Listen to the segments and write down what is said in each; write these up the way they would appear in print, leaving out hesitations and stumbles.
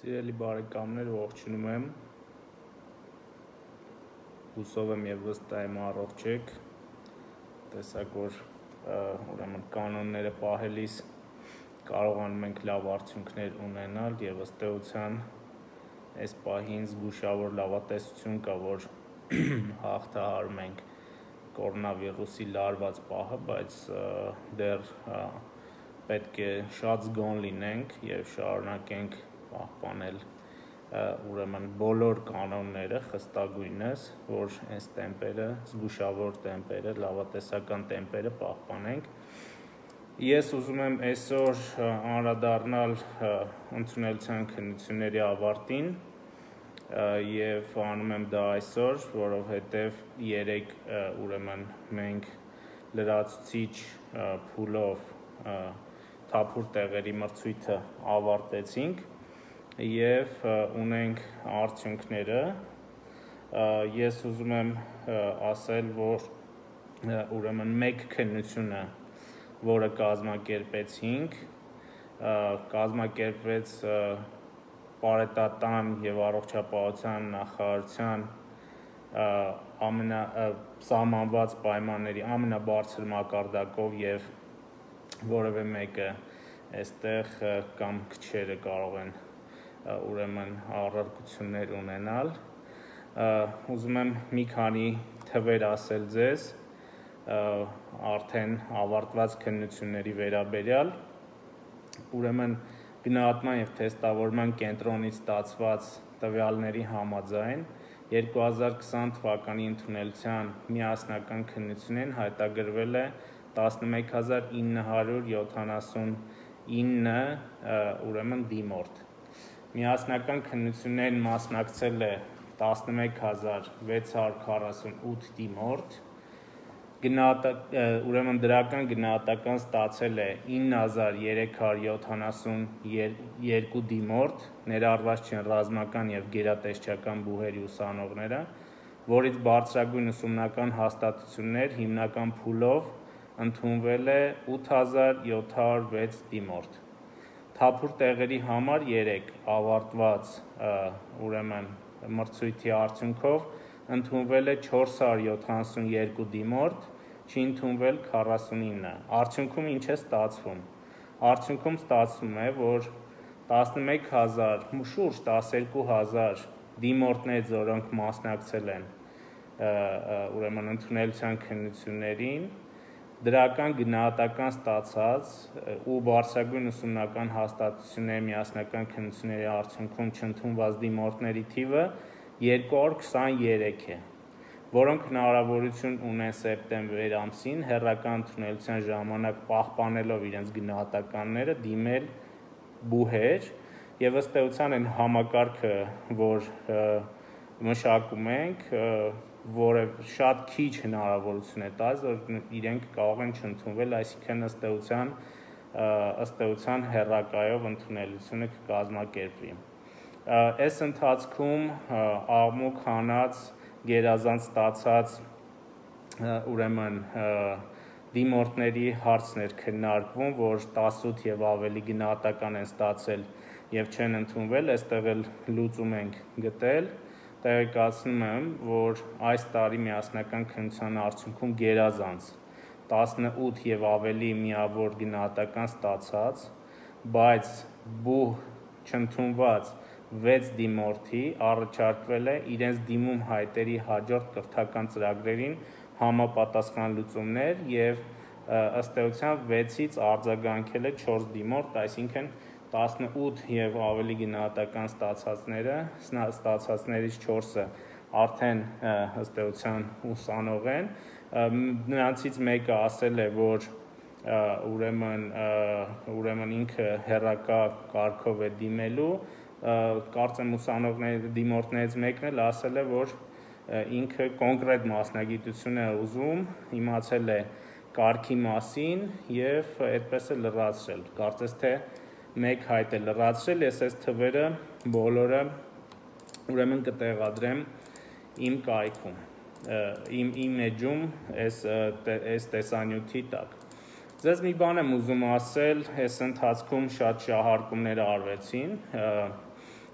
Սիրելի բարեկամներ, ողջունում եմ, հուսով եմ և վստահ եմ առողջ եք, տեսակ որ ուրեմն կանոնները պահելիս կարողանում ենք լավ արդյունքներ ունենալ և ըստ էության այս պահին զգուշավոր լավատեսություն կա, որ հաղթահարում ենք կորոնավիրուսի լարված պահը, բայց դեռ պետք է շատ զգոն լինենք և շարունակենք պահպանել ուրեմն բոլոր կանոնները խստագույնս, որ այս տեմպերը, զգուշավոր տեմպերը, լավատեսական տեմպերը պահպանենք։ Ես ուզում եմ այսօր անդրադառնալ ընդունելության քննությունների ավարտին և անում եմ դա այսօր, որովհետև երեկ ուրեմն մենք լրացուցիչ փուլով թափուր տեղերի մրցույթը ավարտեցինք և ունենք արդյունքները։ Ես ուզում եմ ասել, որ ուրեմն մեկ քննությունը, որը կազմակերպեցինք, կազմակերպվեց Պարետատան և առողջապահության նախարարության սահմանված պայմանների ամենաբարձր մակարդակով և որևէ մեկը այստեղ կամ քչերը կարող են ուրեմն առարկություններ ունենալ։ Ուզում եմ մի քանի թվեր ասել ձեզ արդեն ավարտված քննությունների վերաբերյալ, ուրեմն գնահատման և թեստավորման կենտրոնից ստացված տվյալների համաձայն 2020 թվականի ընդունելության միասնական քննությունին հայտագրվել է 11979 ուրեմն դիմորդ։ Միասնական քննություններին մասնակցել է 11648 դիմորդ, ուրեմն դրական գնահատական ստացել է 9372 դիմորդ, ներառված չեն ռազմական և գերատեսչական բուհերի ուսանողները, որից բարձրագույն ուսումնական հաստատություններ հիմնական փուլով ընդունվել է 8706 դիմորդ։ Թափուր տեղերի համար 3 ավարտված ուրեմն մրցույթի արդյունքով ընդունվել է 472 դիմորդ, չի ընդունվել 49։ Արդյունքում ինչ է ստացվում։ Արդյունքում ստացվում է, որ 11000, շուրջ 12000 դիմորդներից, որոնք մասնակցել են ուրեմն ընդունելության քննություններին, դրական գնահատական ստացած ու բարձրագույն ուսումնական հաստատությունների միասնական քննությունների արդյունքում չընդունված դիմորդների թիվը 223 է, որոնք հնարավորություն ունեն սեպտեմբեր ամսին հեռակա ընդունելության ժամանակ պահպանելով իրենց գնահատականները դիմել բուհեր և ըստ էության այն համակարգը, որ մշակում ենք, որը շատ քիչ հնարավորություն է տալիս, որ իրենք կարող են չընդունվել, այսինքն ըստ էության հեռակայով ընդունելությունը կկազմակերպվի։ Այս ընթացքում աղմուկ հանած գերազանց ստացած ուրեմն դիմորդների հարցն էր քննարկվում, որ 18 և ավելի գնահատական են ստացել և չեն ընդունվել, այստեղ էլ լուծում ենք գտել։ Տեղեկացնում եմ, որ այս տարի միասնական քննության արդյունքում գերազանց 18 և ավելի միավոր գնահատական ստացած, բայց բուհ չընդունված 6 դիմորդի առաջարկվել է իրենց դիմում հայտերի հաջորդ կրթական ծրագրերին համապատասխան լուծումներ և ըստ էության 6-ից արձագանքել է 4 դիմորդ, այսինքն 18 և ավելի գնահատական ստացածներից 4-ը արդեն ըստ էության ուսանող են, նրանցից մեկը ասել է, որ ուրեմն ինքը հեռակա կարգով է դիմելու, կարծեմ դիմորդներից մեկն էլ ասել է, որ ինքը կոնկրետ մասնագիտություն է ուզում, իմացել է կարգի մասին և այդպես է լրացրել, կարծես թե մեկ հայտ է լրացրել, ես այս թվերը բոլորը ուրեմն կտեղադրեմ իմ կայքում, իմ էջում այս տեսանյութի տակ։ Ձեզ մի բան եմ ուզում ասել, այս ընթացքում շատ շահարկումներ արվեցին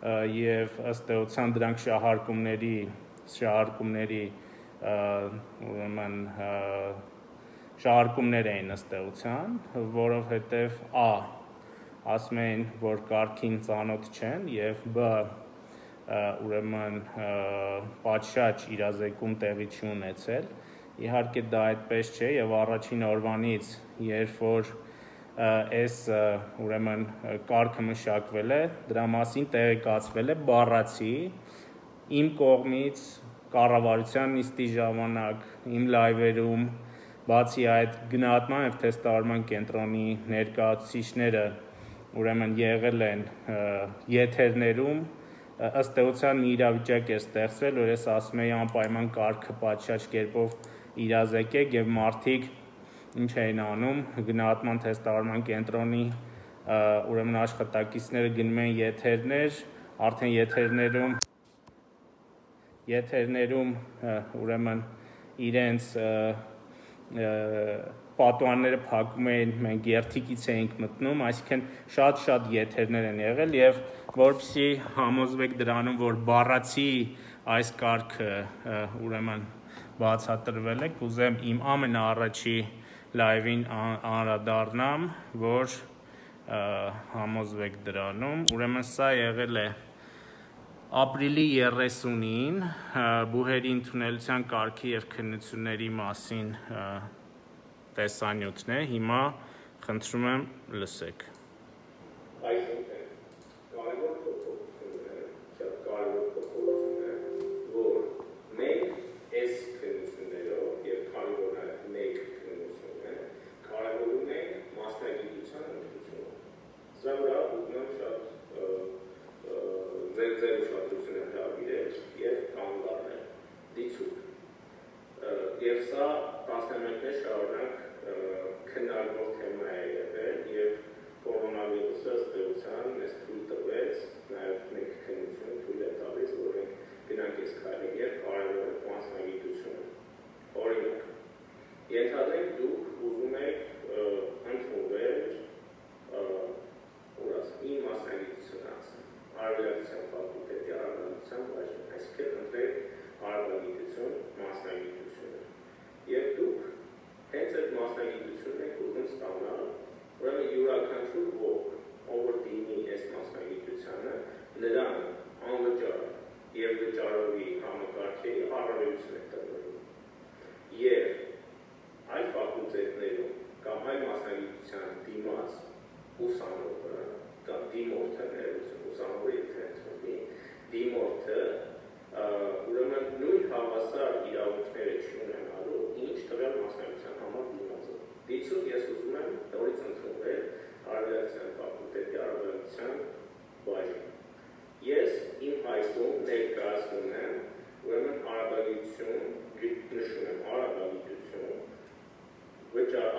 եւ ըստ էության դրանք շահարկումներ էին ըստ էության, որովհետեւ ասում էին, որ կարգին ծանոթ չեն եւ ուրեմն պատշաճ իրազեկում տեղի չի ունեցել։ Իհարկե դա այդպես չէ եւ առաջին օրվանից, երբ որ այս ուրեմն կարգը մշակվել է, դրա մասին տեղեկացվել է բառացի իմ կողմից կառավարության նիստի ժամանակ, իմ լայվերում, բացի այդ գնահատման եւ թեստավորման կենտրոնի ներկայացուցիչները ուրեմն եղել են եթերներում, ըստ էության մի իրավիճակ է ստեղծվել, որ ես ասում եի անպայման կարգը պատշաճ կերպով իրազեկեք եւ մարդիկ ինչ էին անում, գնահատման թեստավորման կենտրոնի ուրեմն աշխատակիցները գնում են եթերներ, արդեն եթերներում ուրեմն իրենց պատուհանները փակում էին, մենք երթիկից էինք մտնում, այսինքն շատ եթերներ են եղել եւ որպեսզի համոզվեք դրանում, որ բառացի այս կարգը ուրեմն բացատրվել է, կուզեմ իմ ամենաառաջի լայվին անդրադառնամ, որ համոզվեք դրանում, ուրեմն սա եղել է ապրիլի 30-ին բուհերի ընդունելության կարգի եւ քննությունների մասին տեսանյութն է, հիմա խնդրում եմ լսեք։ Այսինքն, կարևոր փոփոխությունները, շատ կարևոր փոփոխությունները, որ մենք այս քննություններով եւ քանի որ մեկ քննություն է, կարևորում ենք մասնագիտության ընդունումը։ Սա վրա ուզում եմ շատ ձեր ուշադրությունը հրավիրել եւ կանգառնել դիցուկ։ Եվ սա տասնամյակներ շարունակ քննարկվող թեմա է եղել եւ կորոնավիրուսը ըստ էության մեզ թույլ տվեց նաեւ մեկ քննություն թույլ է տալիս, որ մենք գնանք այս քայլը եւ կարևորենք մասնագիտությունը։ Օրինակ, ենթադրենք դուք ուզում եք ընդունվել իմ մասնագիտությունը ասեմ, արևելացիան ֆակուլտետի արևելացիան բաժին, այսինքն ընտրեք արևելագիտություն մասնագիտությունը։ Եվ դուք հենց այդ մասնագիտությունն եք ուզում ստանալ, ուրեմն յուրաքանչյուր ոք, ով որ դիմի այս մասնագիտությանը, նրան անվճար եւ վճարովի համակարգերի առավելություն է տրվելու։ Եվ այլ ֆակուլտետներում կամ այլ մասնագիտության դիմաց ուսանողը կամ դիմորդը ուսանողի թեթվի դիմորդը ուրեմն նույն հավասար իրավունքները չունենալու, ինչ տվյալ մասնագիտության համար դիմացը։ Դիցուկ ես ուզում եմ նորից ընդունվել արևելացիան ֆակուլտետի արևելացիան բաժին։ Ես իմ հայտում ներկայացնում եմ ուրեմն արաբագիտություն, նշում եմ արաբագիտություն,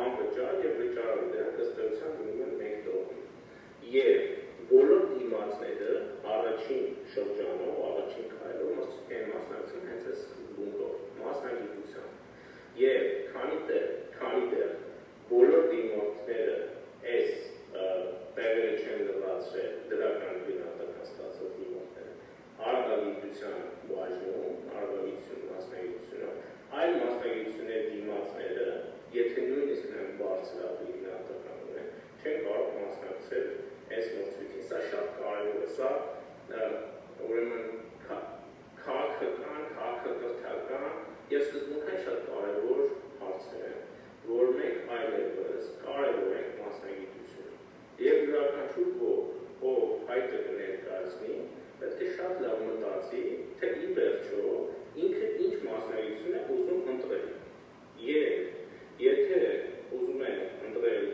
անվճար եւ վճարով դրանք ըստ էության գնում են մեկ տողի։ Եվ բոլոր դիմացները առաջին շրջանով, առաջին քայլով են մասնակցում հենց այս բունկով, մասնագիտության։ Եվ քանի դեռ բոլոր դիմորդները այս տեղերը չեն լրացրել դրական գնահատական ստացող դիմորդները, արաբագիտության բաժնում, արաբագիտություն մասնագիտությունը, այլ մասնագիտությունների դիմացները, եթե նույնիսկ նրանք բարձրագույն գնահատական ունեն, չեն կարող մասնակցել այս մրցույթին։ Սա շատ կարևոր է, սա ուրեմն քաղաքակրթական եւ սկզբունքային շատ կարևոր հարցեր են, որ մենք այլևս կարևորենք մասնագիտությունը։ Եվ յուրաքանչյուր ոք, ով հայտը կներկայացնի, պետք է շատ լավ մտածի, թե ի վերջո ինքը ինչ մասնագիտություն է ուզում ընտրել։ Եվ եթե ուզում է ընտրել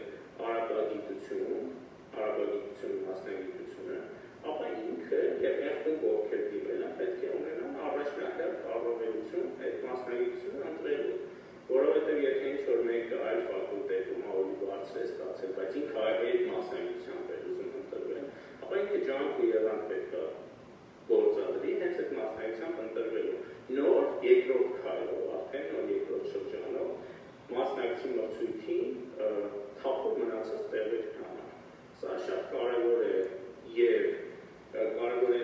արաբագիտություն մասնագիտությունը, ապա ինքը եւ եղբայր ովքեր դիմել են պետք է ունենան առաջնահերթ առավելություն այդ մասնագիտությունը ընտրելու, որովհետեւ եթե ինչ-որ մեկը այլ ֆակուլտետում ավելի բարձր է ստացել, բայց ինքը այդ մասնագիտությամբ է ուզում ընտրվել, ապա ինքը ջանք ու եղանք պետք է գործադրի հենց այդ մասնագիտությամբ ընտրվելու։ Նոր երկրորդ քայլով, արդեն նոր երկրորդ շրջանով մասնակցի մրցույթին թափով մնացած տեղեր կանալ։ Սա շատ կարևոր է եւ կարևոր է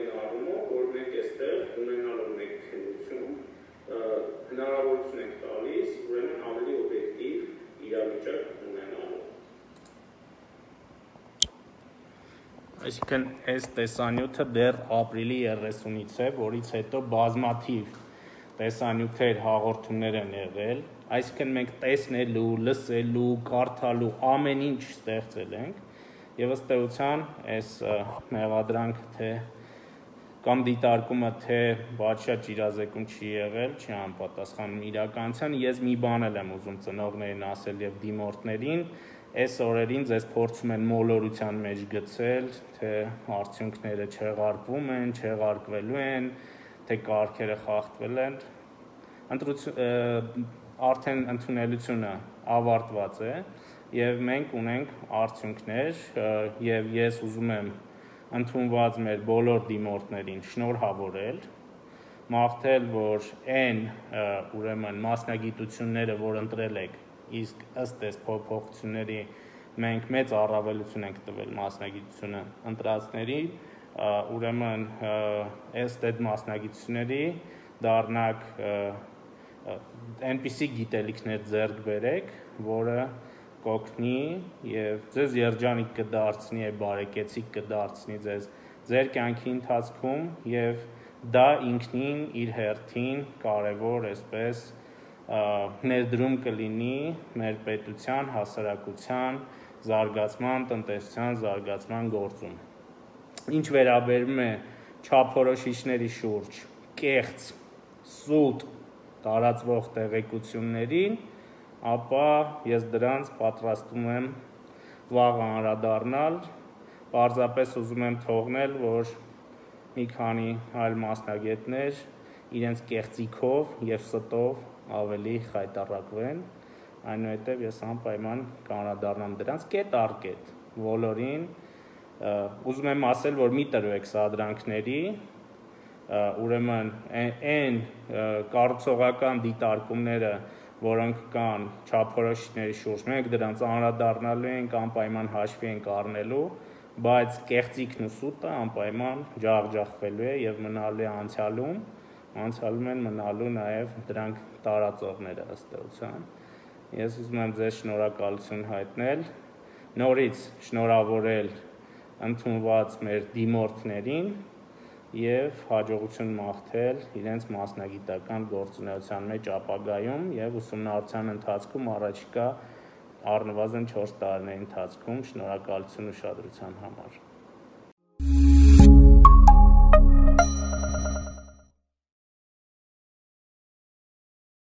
Այսինքն այս տեսանյութը դեռ ապրիլի 30-ից է, որից հետո բազմաթիվ տեսանյութեր հաղորդումներ են եղել, այսինքն մենք տեսնելու, լսելու, կարդալու ամեն ինչ ստեղծել ենք եւ ըստ էության այս մեղադրանք թե կամ դիտարկումը թե բացշատ իրազեկում չի եղել, չի անպատասխանում իրականության, ես մի բան եմ ուզում ծնողներին ասել եւ դիմորդներին, այս օրերին ձեզ փորձում են մոլորության մեջ գցել, թե արդյունքները չեղարկվում են, չեղարկվելու են, թե կարգերը խախտվել են, արդեն ընդունելությունը ավարտված է եւ մենք ունենք արդյունքներ եւ ես ուզում եմ ընդունված մեր բոլոր դիմորդներին շնորհավորել, մաղթել, որ այն ուրեմն մասնագիտությունները, որ ընտրել եք, իսկ ըստ այս փոփոխությունների մենք մեծ առավելություն ենք տվել մասնագիտությունը ընտրածների, ուրեմն ըստ այդ մասնագիտությունների դառնաք այնպիսի գիտելիքներ ձեռք բերեք, որը կօգնի եւ ձեզ երջանիկ կդարձնի եւ բարեկեցիկ կդարձնի ձեզ ձեր կյանքի ընթացքում եւ դա ինքնին իր հերթին կարեւոր այսպես ներդրում կլինի մեր պետության, հասարակության զարգացման, տնտեսության զարգացման գործում։ Ինչ վերաբերում է չափորոշիչների շուրջ կեղծ, սուտ տարածվող տեղեկություններին, ապա ես դրանց պատրաստում եմ վաղը անդրադառնալ, պարզապես ուզում եմ թողնել, որ մի քանի այլ մասնագետներ իրենց կեղծիքով եւ ստով ավելի խայտառակվեն, այնուհետև ես անպայման կանդրադառնամ դրանց կետ առ կետ, բոլորին, ուզում եմ ասել, որ մի տրվեք սադրանքների, ուրեմն այն կառուցողական դիտարկումները, որոնք կան չափորոշիչների շուրջ, մենք դրանց անդրադառնալու ենք, անպայման հաշվի ենք առնելու, բայց կեղծիքն ու սուտը անպայման ջախջախվելու է եւ մնալու է անցյալում են մնալու նաեւ դրանք տարածողները ըստ էության։ Ես ուզում եմ ձեզ շնորհակալություն հայտնել, նորից շնորհավորել ընդունված մեր դիմորդներին եւ հաջողություն մաղթել իրենց մասնագիտական գործունեության մեջ ապագայում եւ ուսումնառության ընթացքում առաջիկա առնվազն 4 տարիների ընթացքում շնորհակալություն ուշադրության համար։